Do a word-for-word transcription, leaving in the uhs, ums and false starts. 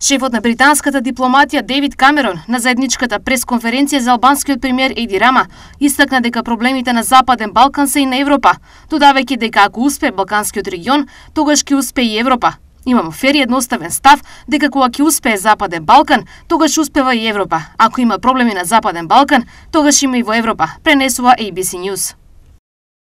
Шефот на британската дипломатија Дейвид Камерон на заедничката пресконференција за албанскиот премиер Еди Рама истакна дека проблемите на Западен Балкан се и на Европа, додавајќи дека ако успее Балканскиот регион, тогаш ќе успее и Европа. Имам фер и едноставен став дека кога ќе успее Западен Балкан, тогаш успева и Европа. Ако има проблеми на Западен Балкан, тогаш има и во Европа, пренесува A B C News.